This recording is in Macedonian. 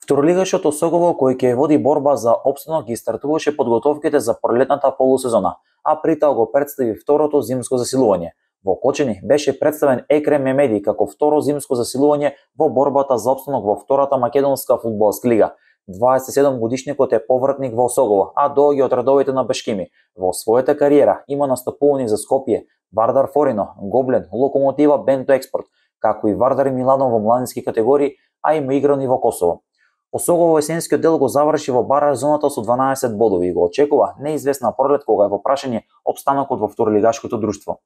Второлигашот Осогово, кој ќе води борба за опстанок, ги стартуваше подготовките за пролетната полусезона, а при тоа го представи второто зимско засилување. Во Кочени беше представен Екрем Мемеди како второ зимско засилување во борбата за опстанок во втората македонска фудбалска лига. 27 годишникот е повратник во Осогово, а доаѓа од редовите на Бешкими. Во својата кариера има настапувани за Скопје, Вардар Форино, Гоблен, Локомотива, Бенто Експорт, како и Вардар Милано во младински категории, а има играни во Косово. Осогово есенскиот дел го заврши во бараж зоната со 12 бодови и го очекува неизвестна пролет кога е во прашање опстанокот во второлигашкото друштво.